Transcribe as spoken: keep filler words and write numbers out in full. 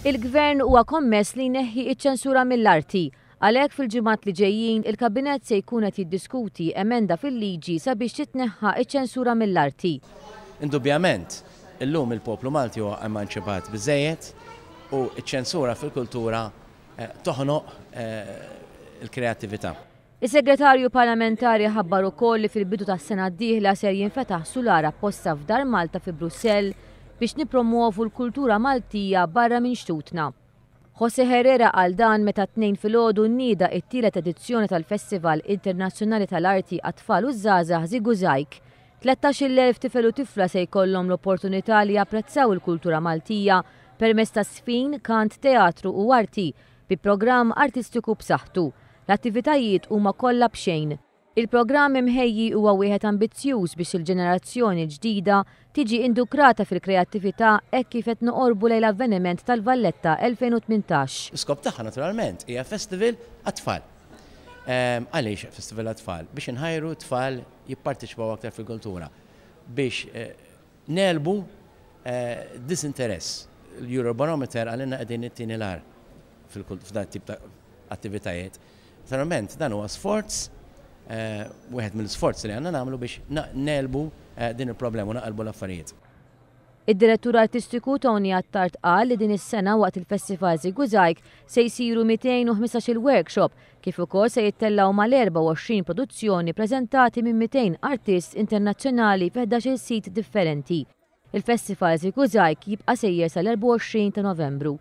Il-Gvern huwa kommess li jneħħi iċ-ċensura mill-arti. Għalhekk fil-ġimgħat li ġejjin il-Kabinett se jkun qed jiddiskuti emenda fil-liġi sabiex titneħħa iċ-ċensura mill-arti. Indubjament, illum il-poplu Malti huwa emanċipat biżejjed u ċ-ċensura fil-kultura eh, toħnoq eh, il-kreattività. Is-segretarju parlamentari ħabbar ukoll li fil-bidu tas-sena d-dieħla ser jinfetaħ sular apposta f'Dar Malta fi Brussell biex nipromuovu l-kultura Maltija barra minn xtutna. Jose Herrera qal dan meta t-Tnejn filgħodu nieda it-tielet edizzjoni tal-Festival Internazzjonali tal-Arti għat-Tfal u Żgħażagħ ŻiguŻajg. tlettax-il elf tifel u tifla se jkollhom l-opportunità li japprezzaw il-kultura Maltija permezz ta' żfin, kant, teatru u arti bi programm artistiku b'saħħtu. L-attivitajiet huma kollha b'xejn. Il-programm imħejji huwa wieħed ambizzjuż biex il-ġenerazzjoni ġdida tiġi indukrata fil-kreattività hekk kif qed noqorbu lejn l-avveniment tal-Valletta elfejn u tmintax. L-iskop tagħha naturalment hija festival għat-tfal. Ehm, għaliex festival għat-tfal? Biex inħajru tfal jipparteċipaw aktar fil-kultura. Biex eh, negħlbu eh, disinteress. L-Eurobarometer qalilna qegħdin it-tieni l-agħar f'dan tip ta' attivitajiet. Naturalment dan huwa sforz, Eh, wieħed mill-sforzi li għandna nagħmlu biex negħlbu eh, din il-problema u naqalbu l-affarijiet. Id-direttur artistiku Tony Attard qal li din is-sena waqt il-Festival ŻiguŻajg se jsiru mitejn u ħmistax-il workshop kif ukoll se jittellgħu mal-erbgħa u għoxrin produzzjoni preżentati minn mitejn artist internazzjonali fi ħdax-il sit differenti. Il-Festival ŻiguŻajg jibqa' sejjer sal-erbgħa u għoxrin ta' Novembru.